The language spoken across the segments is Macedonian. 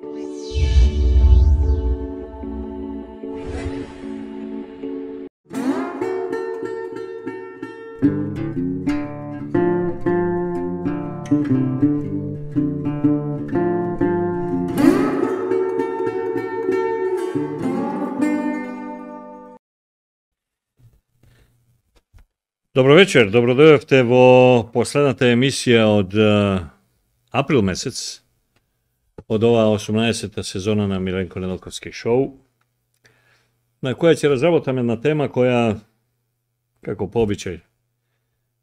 Добро вечер, добро дојдовте во последната емисија од април месец, од оваа 18-та сезона на Миленко Неделковски шоу, на која ќе разработаме една тема која, како по обичај,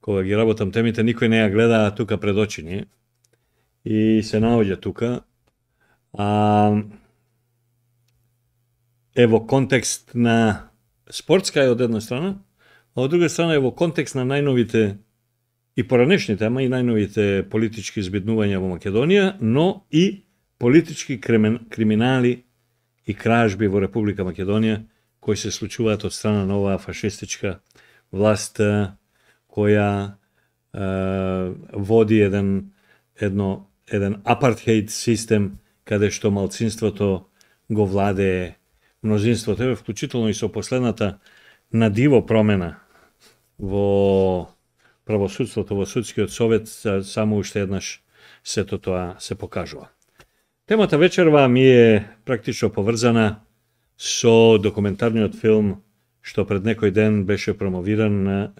кога ги работам темите, никој не ја гледа тука пред очи ни, и се наоѓа тука, е во контекст на спортска е од една страна, а од друга страна е во контекст на најновите и поранешните, ама и најновите политички избиднувања во Македонија, но и политички криминали и кражби во Република Македонија кои се случуваат од страна на оваа фашистичка власт која води еден апартхеид систем каде што малцинството го владее мнозинството, вклучително и со последната на диво промена во правосудството, во судскиот совет, само уште еднаш сето тоа се покажува. Темата вечерва ми е практично поврзана со документарниот филм што пред некој ден беше промовиран,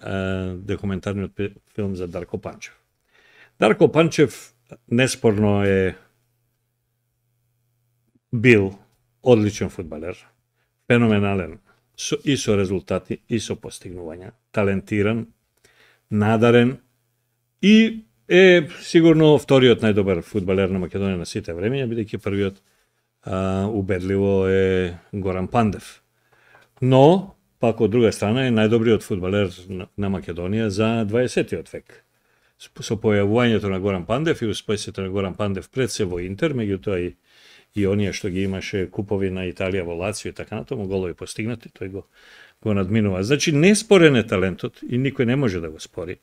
документарниот филм за Дарко Панчев. Дарко Панчев неспорно е бил одличен фудбалер, феноменален, и со резултати, и со постигнувања, талентиран, надарен и е сигурно вториот најдобар фудбалер на Македонија на сите времења, бидејќи првиот убедливо е Горан Пандев. Но, пак од друга страна е најдобриот фудбалер на Македонија за 20-тиот век. Со појавувањето на Горан Пандев и успесите на Горан Пандев пред се во Интер, меѓутоа и оние што ги имаше купови на Италија во Лацио и така натаму, голови постигнати, тој го надминува. Значи, неспорен е талентот и никој не може да го спори.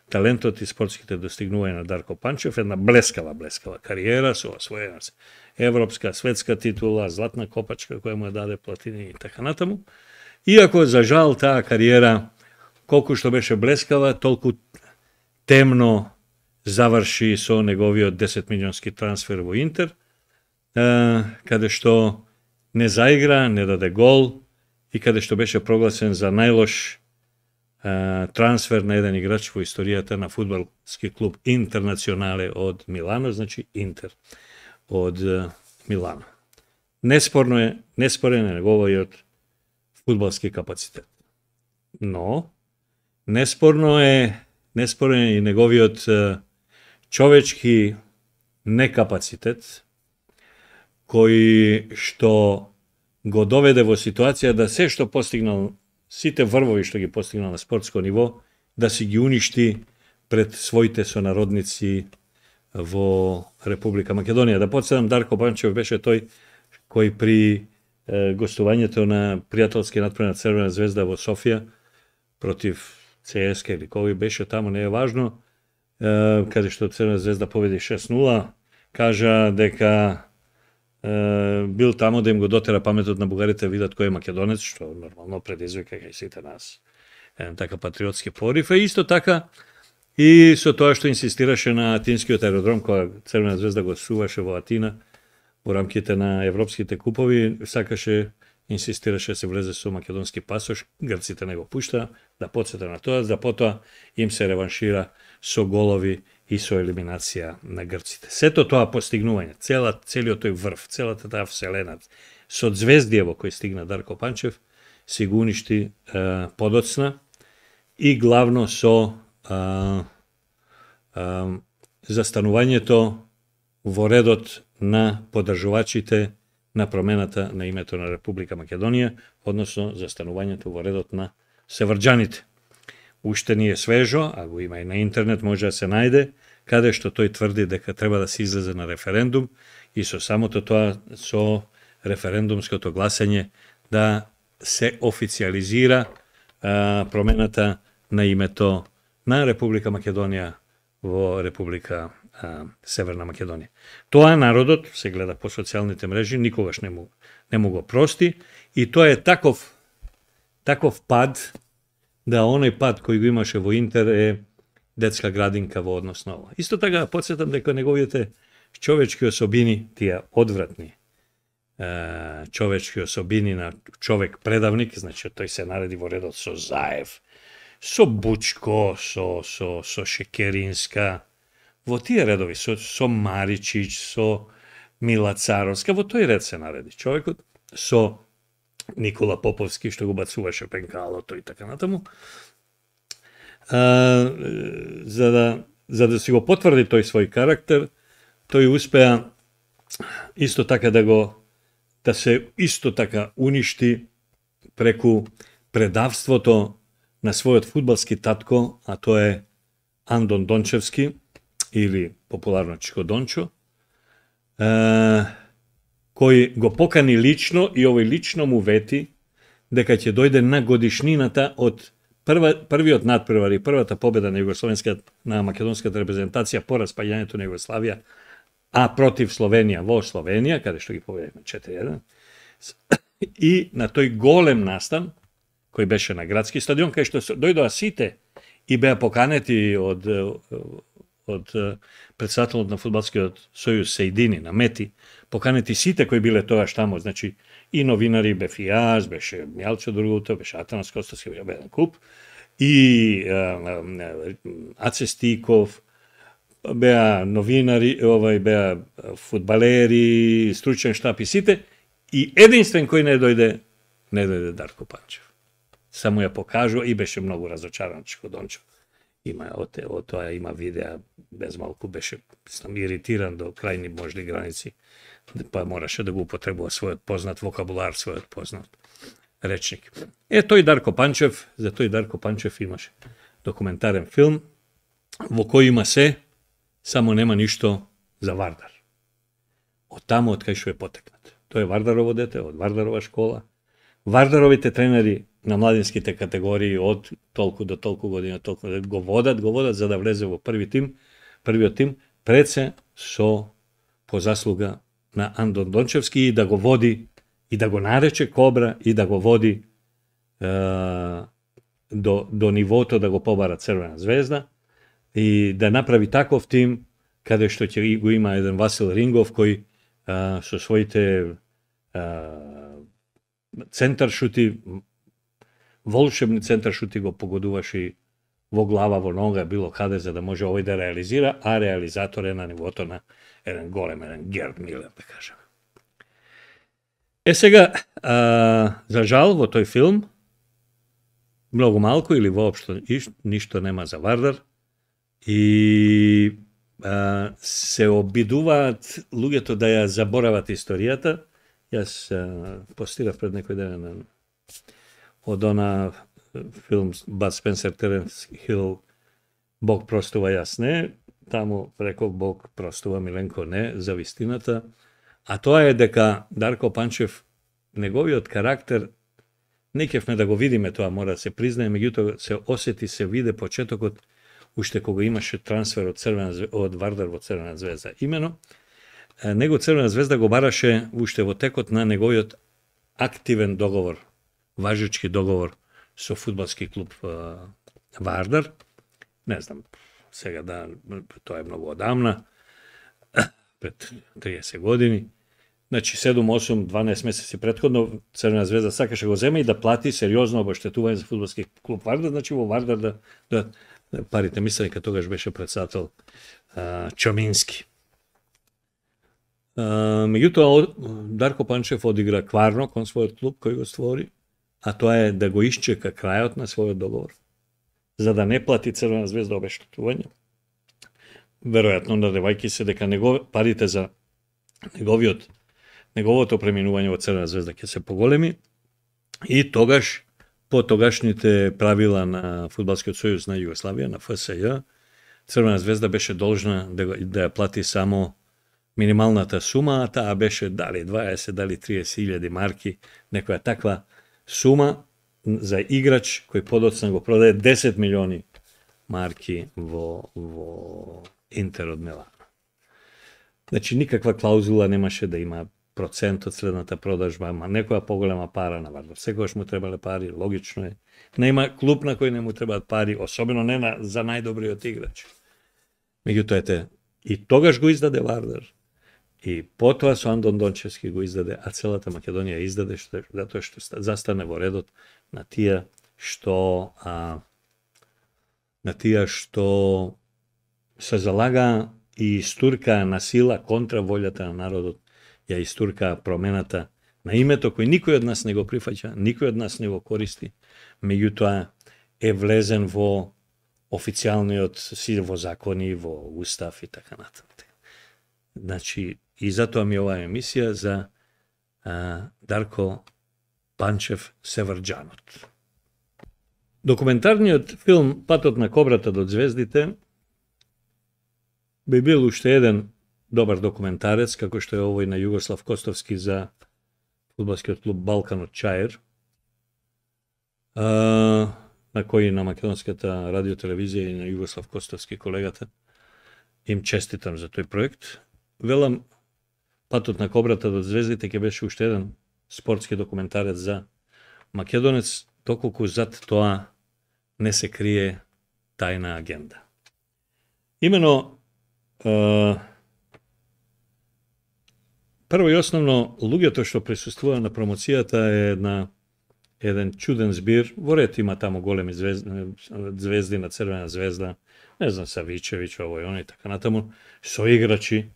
Талентот и спортските достигнувања на Дарко Панчев, една блескава кариера со освоена европска, светска титула, златна копачка која му ја даде платини и така натаму. Иако, за жал, таа кариера, колку што беше блескава, толку темно заврши со неговиот 10 милионски трансфер во Интер, каде што не заигра, не даде гол и каде што беше прогласен за најлош трансфер на еден играч во историјата на фудбалски клуб Интернационале од Милано, значи Интер од Милано. Неспорен е неговиот фудбалски капацитет. Но неспорен е и неговиот човечки некапацитет, кој што го доведе во ситуација да се што постигнал, сите врвови што ги постигнал на спортско ниво, да си ги уништи пред своите сонародници во Република Македонија. Да подседам, Дарко Панчев беше тој кој при гостувањето на пријателски натпред на Црвена звезда во Софија против ЦСКА или кој беше таму, не е важно, каде што Црвена звезда победи 6-0, кажа дека бил таму да им го дотера паметот на бугарите, видат кој е македонец, што нормално предизвика кај сите нас. Така патриотски порив, исто така и со тоа што инсистираше на атинскиот аеродром, кога Црвена звезда го суваше во Атина во рамките на европските купови, сакаше, инсистираше да се влезе со македонски пасош, грците не го пушта, да подсета на тоа, да потоа им се реваншира со голови и со елиминација на грците. Сето тоа постигнување, целиот тој врв, целата таа вселена, со звездија во кој стигна Дарко Панчев, си го уништи подоцна и главно со застанувањето во редот на поддржувачите на промената на името на Република Македонија, односно застанувањето во редот на севрџаните. Уште не е свежо, а го има и на интернет, може да се најде, каде што тој тврди дека треба да се излезе на референдум и со самото тоа, со референдумското гласање, да се официализира промената на името на Република Македонија во Република Северна Македонија. Тоа народот се гледа по социјалните мрежи, никогаш не му го прости и тоа е таков пад, да оној пад кој го имаше во Интер е детска градинка во однос на ова. Исто така потсетам дека неговите човечки особини, тие одвратни човечки особини на човек предавник, значи тој се нареди во редот со Заев, со Бучко, со Шекеринска, во тие редови, со Маричич, со Мила Царовска, во тој ред се нареди човекот, со Никола Поповски, што го бацуваше пенкалото и така натаму. За да си го потврди тој свој карактер, тој успеа исто така да се исто така уништи преку предавството на својот фудбалски татко, а тоа е Андон Дончевски, или популарно Чико Дончо, кој го покани лично и овој лично му вети дека ќе дојде на годишнината од првиот надпревар и првата победа на македонската репрезентација по распаѓањето на Југославија, а против Словенија во Словенија, каде што ги победивме 4-1, и на тој голем настан, кој беше на градски стадион, кај што дојдоа сите и беа поканети од председателот на фудбалскиот сојуз Сејдини на Мети, поканети сите кои биле тогаш таму, значи и новинари, бев и јас, беше Мјалчо Другуто, беше Атанас Костовски, беа еден куп, и Аце Стиков, беа новинари, беа фудбалери, стручен штаб и сите, и единствен кој не дојде Дарко Панчев. Само ја покажува и беше многу разочаран Чико Дончо. Од тоа има видеа, без малку беше иритиран до крајни можни граници, па мораше да го употребува својот познат вокабулар, својот познат речник. Тој Дарко Панчев, за тој Дарко Панчев имаше документарен филм во кој има се, само нема ништо за Вардар. Од таму од кај што е потекнат. Тој е Вардарово дете, од Вардарова школа. Вардаровите тренери на младинските категории од толку до толку година го водат за да влезе во првиот тим, пред се со по заслуга на Андон Дончевски и да го води и да го нарече Кобра и да го води до нивото да го побара Црвена звезда и да направи таков тим каде што ќе го има еден Васил Рингов кој со своите центаршути, волшебни центаршути го погодуваше во глава, во нога, било каде за да може овој да реализира, а реализатор е на нивото на еден голем, еден Герд Милер, да кажем. Сега, за жал, во тој филм, многу малку или воопшто ништо нема за Вардар и се обидуваат луѓето да ја заборават историјата. Јас постирав пред некој ден од она филм Бад Спенсер, Теренс Хил, Бог простува, јас не. Таму реков Бог простува, Миленко не, за вистината. А тоа е дека Дарко Панчев, неговиот карактер, не кефме да го видиме, тоа мора да се признае, меѓутоа се осети, се виде почетокот, уште кога имаше трансфер од Вардар во Црвена звезда. Имено, него Црвена звезда го бараше уште во текот на неговиот активен договор, важечки договор со фудбалски клуб Вардар. Не знам, сега тоа е многу одамна, пред 30 години. Значи 7, 8, 12 месеци претходно Црвена звезда сакаше го зема и да плати сериозно обештетување за фудбалски клуб Вардар, значи во Вардар да парите, мислам дека тогаш беше председател Чомински. Меѓутоа, Дарко Панчев одигра кварно кон својот клуб кој го створи, а тоа е да го исчека крајот на својот договор, за да не плати Црвена звезда обештетување. Веројатно надевајќи се дека парите за неговото преминување во Црвена звезда ќе се поголеми и тогаш, по тогашните правила на Фудбалскиот сојуз на Југославија, на ФСЈ, Црвена звезда беше должна да ја плати само минималната сума, а таа беше дали 20, дали 30.000 марки, некоја таква сума за играч кој подоцна го продаде 10 милиони марки во Интер од Милано. Значи, никаква клаузула немаше да има процент од следната продажба, ама некоја поголема пара на Вардар. Секогаш му требале пари, логично е. Нема клуб на кој не му требаат пари, особено не за најдобриот играч. Меѓутоа, ете, и тогаш го издаде Вардар. И потоа со Андон Дончевски го издаде, а целата Македонија издаде, затоа што застане во редот на тие што се залага и истурка на сила контра волјата на народот, ја истурка промената на името кој никој од нас не го прифаќа, никој од нас не го користи, меѓутоа е влезен во официјалниот си, во закони, во устав и така натаму. Значи, и затоа ми оваа емисија за Дарко Панчев Севрџанот. Документарниот филм Патот на кобрата до ѕвездите би бил уште еден добар документарец, како што е овој на Југослав Костовски за фудбалскиот клуб Балкан од Чаир, на кој на македонската радиотелевизија и на Југослав Костовски колегата им честитам за тој проект. Велам, Патот на кобрата до ѕвездите ќе беше уште еден спортски документарец за македонец, доколку зад тоа не се крие тајна агенда. Имено, прво и основно, луѓето што присуствува на промоцијата е еден чуден збир. Во ред има таму големи звезди на Црвена звезда, не знам, Савичевиќ, овој, оној, така натаму, соиграчи,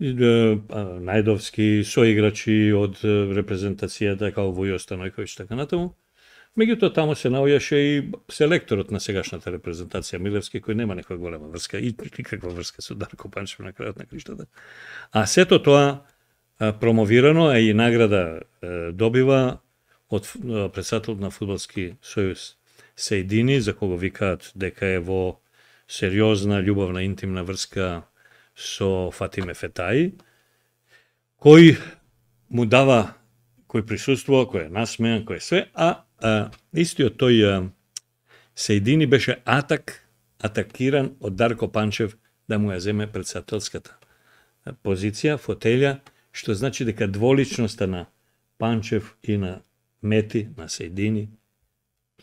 Најдовски, соиграчи од репрезентацијата, као Вујо Станојковиќ, така натаму. Меѓутоа, таму се наоѓаше и селекторот на сегашната репрезентација Милевски, кој нема некоја голема врска, и никаква врска со Дарко Панчев на крајот на криштата. А сето тоа промовирано, и награда добива од претседателот на Фудбалски сојуз Сејдини, за кого викаат дека е во сериозна, љубовна, интимна врска со Фатиме Фетаи, кој му дава, кој присуствува, кој е насмеан, кој е све, истиот тој Сејдини беше атакиран од Дарко Панчев да му ја земе претседателската позиција, фотелја, што значи дека дволичноста на Панчев и на Мети, на Сејдини,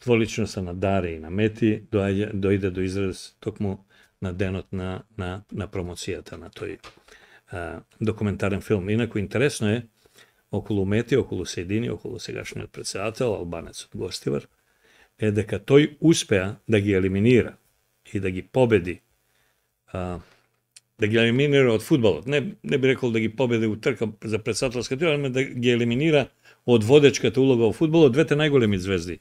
дволичноста на Даре и на Мети дојде до израз токму на денот на промоцијата на тој документарен филм. Инаку интересно е, околу Мети, околу Сејдини, околу сегашниот претседател, албанецот Гостивар, е дека тој успеа да ги елиминира и да ги победи, да ги елиминира од фудбалот. Не би рекол да ги победи у трка за претседателска титла, но да ги елиминира од водечката улога во фудбалот двете најголеми звезди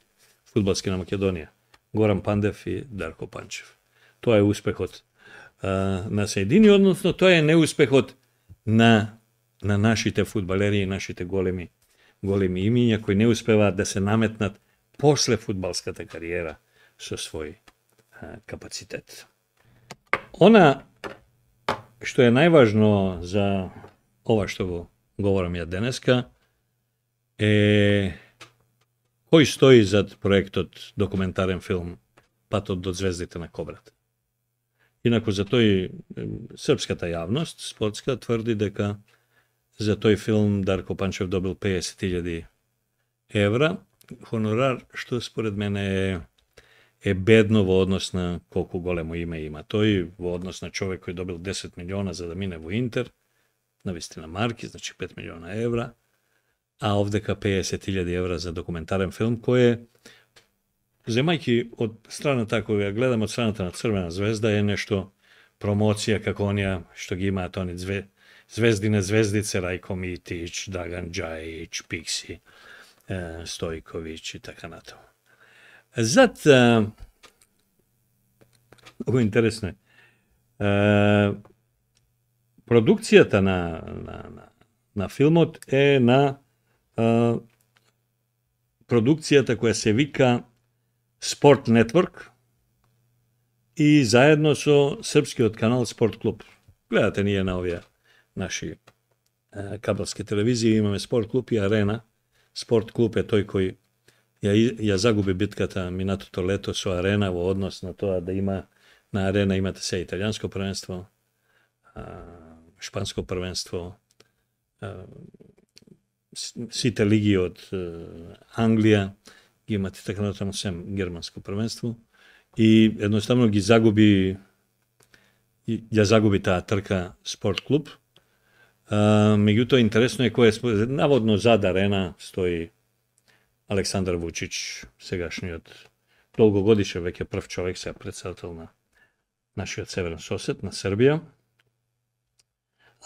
фудбалски на Македонија, Горан Пандев и Дарко Панчев. Тоа е успехот на Сејдини, односно тоа е неуспехот на нашите фудбалери и нашите големи имиња кои не успеваат да се наметнат после фудбалската кариера со свој капацитет. Она што е најважно за ова што го говорам ја денеска е кој стои зад проектот документарен филм Патот до ѕвездите на кобрата. Инаку за тој српската јавност, спортска, тврди дека за тој филм Дарко Панчев добил 50.000 евра, хонорар што според мене е бедно во однос на колку големо име има тој, во однос на човек кој добил 10 милиона за да мине во Интер, навистина марки, значи 5 милиона евра, а овдека 50.000 евра за документарен филм, кој е, земајќи од страната, кој ја гледам од страната на Црвена звезда, е нешто промоција како онија што ги имаат они звездине звездице, Рајко Митич, Драган Џајич, Пикси, Стојковиќ и така натаму. Зад, много интересно е, продукцијата на филмот е на продукцијата која се вика Спорт Нетворк и заедно со српскиот канал Спорт Клуб. Гледате ние на овие наши кабелски телевизии, имаме Спорт Клуб и Арена. Спорт Клуб е тој кој ја загуби битката минатото лето со Арена во однос на тоа да има на Арена имате се италијанско првенство, шпанско првенство, сите лиги од Англија ги имате така натаму сем германско првенство и едноставно ги загуби таа трка спорт клуб. Меѓутоа интересно е кој е наводно зад арена стои Александар Вучич, сегашниот долгогодишен веќе прв човек, сега претседател на нашиот северен сосед на Србија.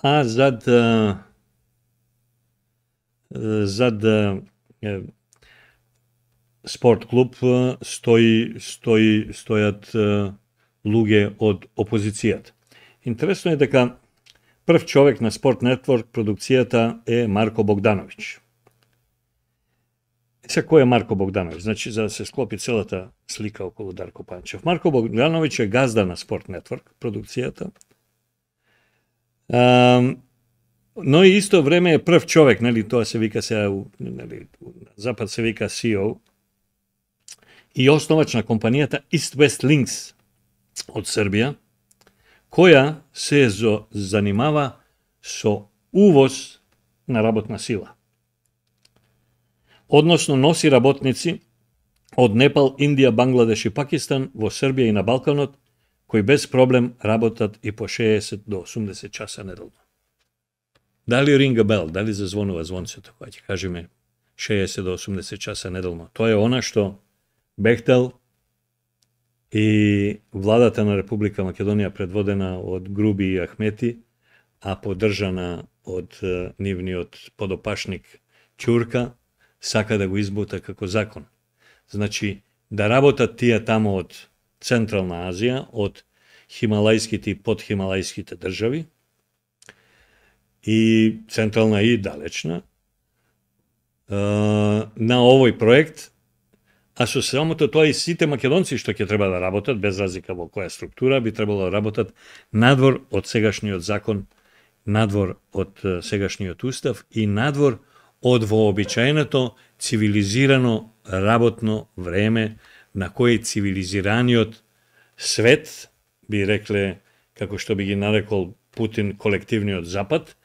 А зад спорт клуб стојат луѓе од опозицијата. Интересно е дека прв човек на Спорт Нетворк продукцијата е Марко Богдановиќ. Сега, кој е Марко Богдановиќ? Значи, за да се склопи целата слика околу Дарко Панчев. Марко Богдановиќ е газда на Спорт Нетворк продукцијата. Но и исто време е прв човек, нели, тоа се вика сега, нели, запад се вика CEO, и основач на компанијата East West Links од Србија, која се занимава со увоз на работна сила. Односно носи работници од Непал, Индија, Бангладеш и Пакистан во Србија и на Балканот, кои без проблем работат и по 60 до 80 часа неделно. Дали ринга бел, дали зазвонува звонцето, кога ќе кажеме 60 до 80 часа неделно. Тоа е она што Бехтел и владата на Република Македонија, предводена од Груби и Ахмети, а поддржана од нивниот подопашник Ќурка, сака да го избута како закон. Значи, да работат тие тамо од Централна Азија, од хималајските и подхималајските држави, и централна и далечна, на овој проект, а со самото тоа и сите македонци што ќе треба да работат, без разлика во која структура, би требало да работат надвор од сегашниот закон, надвор од сегашниот устав и надвор од вообичаеното цивилизирано работно време на кој цивилизираниот свет, би рекле, како што би ги нарекол Путин, колективниот запад,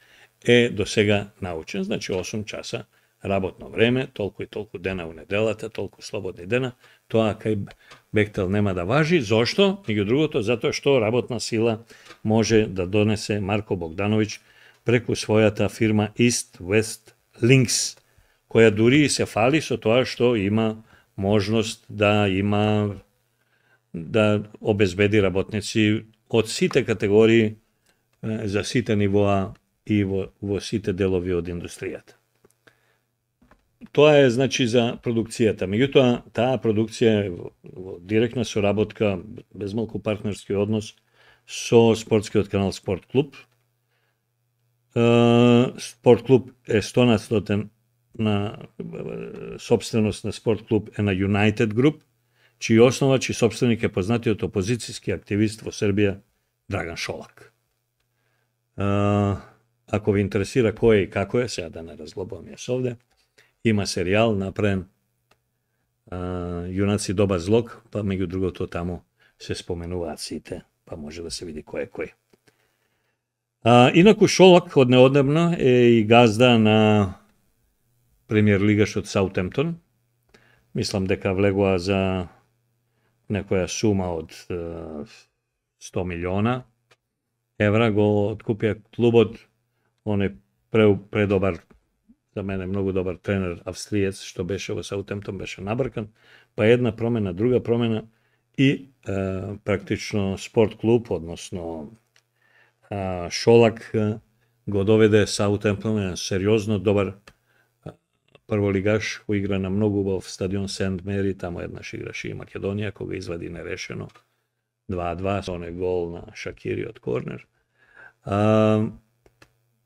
е до сега научен. Значи 8 часа работно време, толку и толку дена у неделата, толку слободни дена, тоа кај Бехтел нема да важи. Зошто? Меѓу другото, затоа што работна сила може да донесе Марко Богдановиќ преку својата фирма East West Links, која дури и се фали со тоа што има можност да обезбеди работници од сите категории, за сите нивоа и во сите делови од индустријата. Тоа е, значи, за продукцијата. Меѓутоа, таа продукција е во директна соработка, безмалку партнерски однос со спортскиот канал Спорт клуб. Спорт клуб е 100% на собственост на Спорт клуб е на United Group, чиј основач и собственик е познатиот опозицијски активист во Србија Драган Шолак. Ако ви интересира кој е и како е, сега да не разглобувам јас овде, има серијал направен Јунаци добар злог, па меѓу другото таму се споменуваат сите, па може да се види кој е кој. Инаку Шолак од неодамна е и газда на премиер лигашот Саутемптон. Мислам дека влегува за некоја сума од 100 милиона евра, го откупија клубот. Он е предобар, за мене многу добар тренер, австриец, што беше во Саутемптон, беше набркан, па една промена, друга промена и практично спорт клуб, односно Шолак го доведе Саутемптон на сериозно добар прволигаш, кој игра на многу убав стадион Сент Мери, тамо еднаш играше и Македонија, кога извади нерешено 2-2, со оној гол на Шакири од корнер.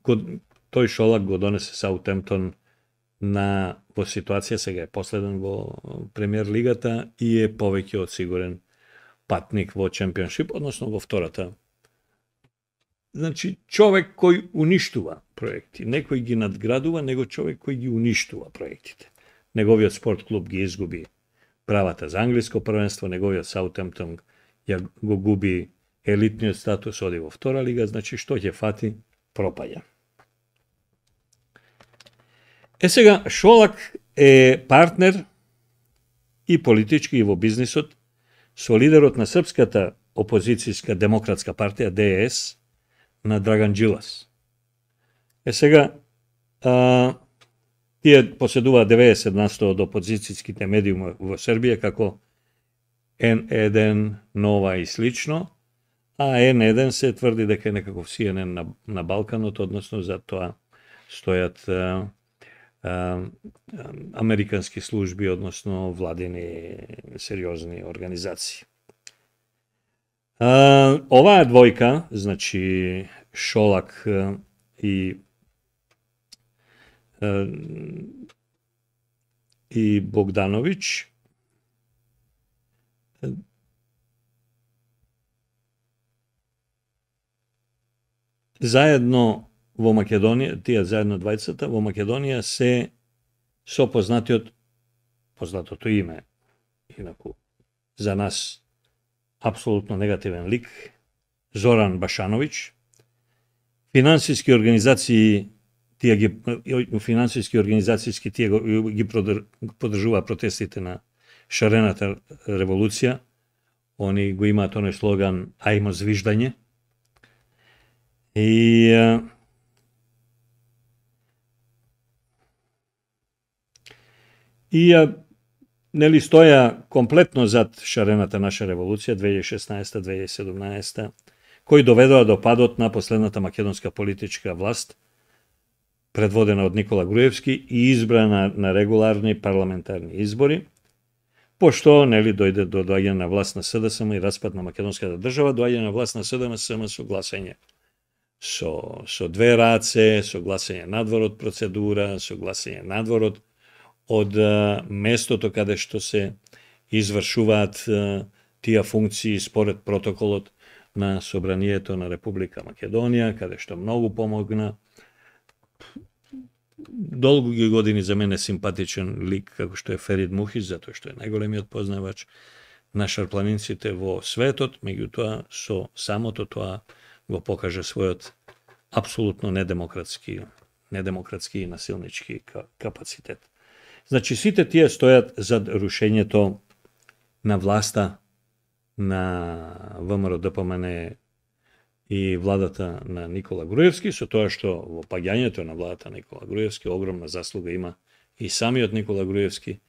Тој Шолак го донесе Саутемптон во ситуација, сега е последен во премиер лигата и е повеќе од сигурен патник во чемпионшип, односно во втората. Значи, човек кој уништува проекти, некој ги надградува, него човек кој ги уништува проектите. Неговиот спорт клуб ги изгуби правата за англиско првенство, неговиот Саутемптон го губи елитниот статус, оди во втора лига, значи што ќе фати пропаѓа. Сега, Шолак е партнер и политички и во бизнисот со лидерот на Српската опозицијска демократска партија ДС на Драган Джилас. Сега, тие поседуваат 90% од опозицијските медиуми во Србија, како N1, Нова и слично, а N1 се тврди дека е некаков CNN на Балканот, односно за тоа стојат американски служби, односно владини сериозни организации. Оваа двојка, значи Шолак и Богдановиќ, заедно во Македонија, тие заедно двајцата, во Македонија се со познатото име, инаку за нас апсолутно негативен лик, Зоран Башановиќ. Финансиски организации тие ги поддржува протестите на шарената револуција. Они го имаат оној слоган "Ајмо звиждање". Нели стоја комплетно зад шарената наша револуција 2016-2017, кои доведоа до падот на последната македонска политичка власт, предводена од Никола Груевски и избрана на регуларни парламентарни избори, пошто нели дојде до доаѓање на власт на СДСМ и распад на македонската држава, доаѓање на власт на СДСМ со гласање со две раце, со гласање надвор од процедура, со гласање надвор од местото каде што се извршуваат тие функции според протоколот на Собранието на Република Македонија, каде што многу помогна. Долги години за мене симпатичен лик како што е Ферид Мухич, затоа што е најголемиот познавач на шарпланинците во светот, меѓутоа со самото тоа го покаже својот апсолутно недемократски и насилнички капацитет. Значи, сите тие стојат зад рушењето на власта на ВМРО ДПМН и владата на Никола Груевски, со тоа што во паѓањето на владата на Никола Груевски огромна заслуга има и самиот Никола Груевски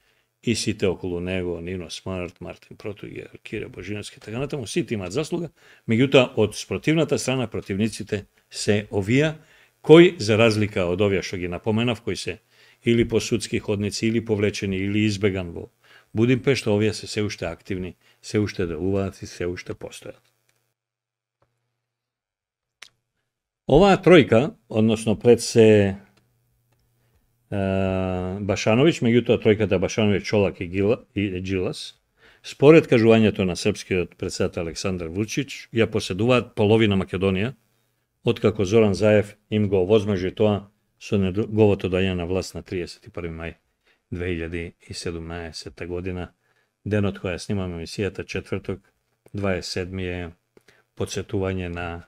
и сите околу него, Нино Смарт, Мартин Протуѓер, Кире Божиновски, така натаму, сите имаат заслуга, меѓутоа од спротивната страна противниците се овие, кои за разлика од овие што ги напоменав, кои се или по судски ходници, или повлечени, или избеган во Будимпешта, овие се уште активни, се уште делуваат и се уште постојат. Оваа тројка, односно пред се Башановиќ, меѓутоа тројката Башановиќ, Шолак и Джилас, според кажувањето на српскиот председател Александар Вучич, ја поседуваат половина Македонија, откако Зоран Заев им го овозможи тоа со неговото доаѓање на власт на 31. мај 2017 година, денот која снимаме емисијата, четврток, 27. е подсетување на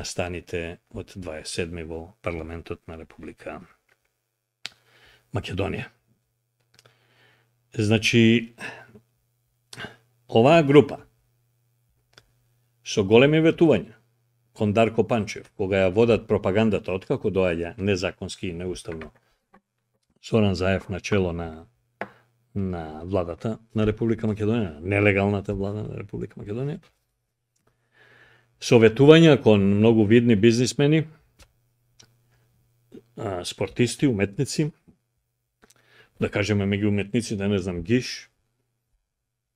станите од 27. во парламентот на Република Македонија. Значи, оваа група со големи ветувања кон Дарко Панчев, кога ја водат пропагандата откако доаѓа незаконски и неуставно Зоран Заев на чело на владата на Република Македонија, нелегалната влада на Република Македонија, со ветувања кон многу видни бизнисмени, спортисти, уметници, да кажеме меѓу уметниците, не знам, Гиш,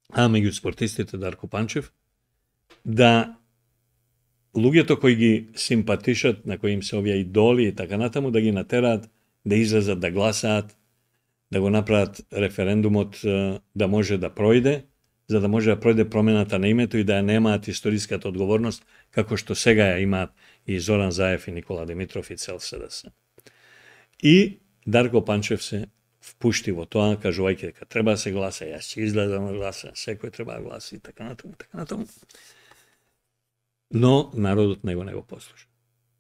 а меѓу спортистите Дарко Панчев, да луѓето кои ги симпатишат, на кои им се овие идоли и така натаму, да ги натераат да излезат да гласаат, да го направат референдумот да може да пројде, за да може да пројде промената на името и да ја немаат историската одговорност, како што сега ја имаат и Зоран Заев и Никола Димитров и цел СДС. И Дарко Панчев се впушти во тоа, кажувајќи дека треба да се гласа, јас ќе излезам да гласа, секој треба да гласи и така натаму. Но народот него не го послуша.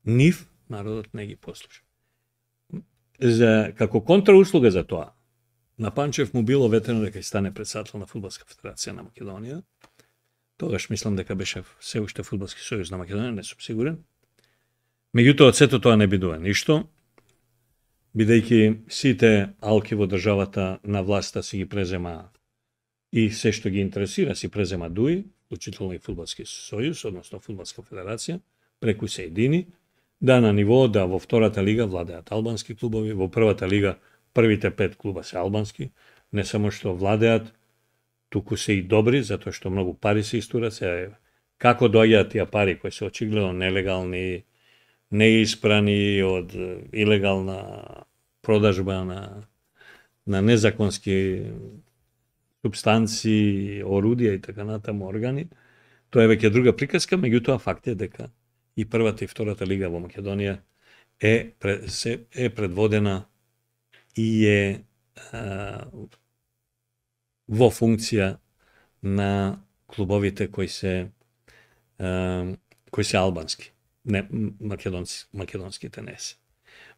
Нив народот не ги послуша. Како контрауслуга за тоа, на Панчев му било ветено дека ќе стане председател на Фудбалска федерација на Македонија. Тогаш мислам дека беше се уште Фудбалски сојуз на Македонија, не сум сигурен. Меѓутоа, сето тоа не бидува ништо, бидејќи сите алки во државата на власта си ги презема и се што ги интересира си презема ДУИ, вклучително и Фудбалски сојуз, односно Фудбалска федерација, преку се едини, да на ниво да во втората лига владеат албански клубови, во првата лига првите 5 клуба се албански, не само што владеат, туку се и добри, затоа што многу пари се истурат, како доаѓаат тие пари кои се очигледно нелегални, неиспрани од илегална продажба на незаконски субстанции, орудија и така натаму органи, тоа е веќе друга приказка, меѓутоа факт е дека и првата и втората лига во Македонија е предводена и е во функција на клубовите кои се албански, не македонските не се.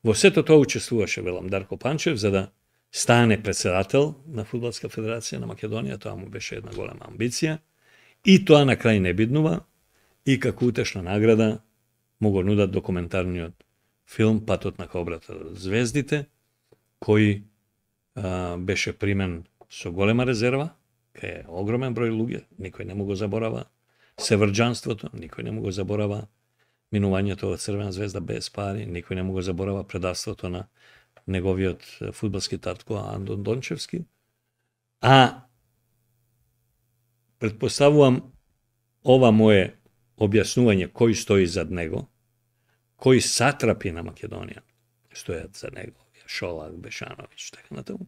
Во сето тоа учествуваше, велам, Дарко Панчев, за да стане председател на Фудбалска федерација на Македонија, тоа му беше една голема амбиција, и тоа на крај не биднува, и како утешна награда му го нудат документарниот филм Патот на кобрата звездите, кој беше примен со голема резерва, кај е огромен број луѓе, никој не му го заборава севрџанството, никој не му го заборава минувањето од Црвена звезда без пари, никој не му го заборава предавството на неговиот фудбалски татко Андон Дончевски. А предпоставувам ова мое објаснување кој стои зад него, кои сатрапи на Македонија стојат за него, Шолак, Бешановиќ, така натаму,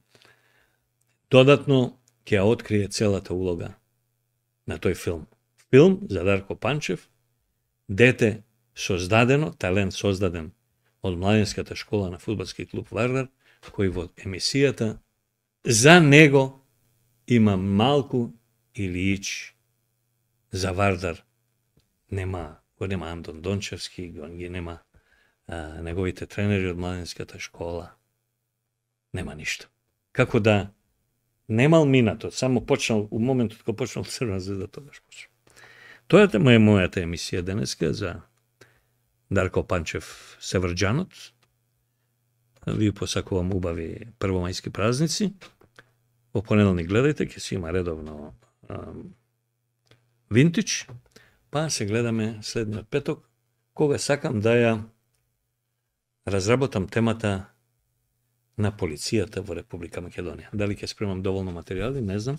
додатно ќе ја открие целата улога на тој филм. Филм за Дарко Панчев, дете создадено, талент создаден од младинската школа на фудбалски клуб Вардар, кој во емисијата за него има малку или ич за Вардар. Го нема Андон Дончевски, го нема неговите тренери од младинската школа. Нема ништо. Како да немал минато, само почнал, у моментот кога почнал Црвена звезда, тогаш почнал. Тоа е мојата емисија денеска за Дарко Панчев Севрџанот. Ви посакувам убави првомајски празници. Во понеделник гледајте, ќе си има редовно Винтич, па се гледаме следниот петок, кога сакам да ја разработам темата на полицијата во Република Македонија. Дали ќе спремам доволно материјали, не знам,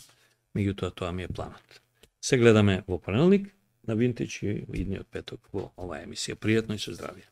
меѓутоа тоа ми е планот. Се гледаме во понеделник на Винтич и идниот петок во оваа емисија. Пријатно и со здравје.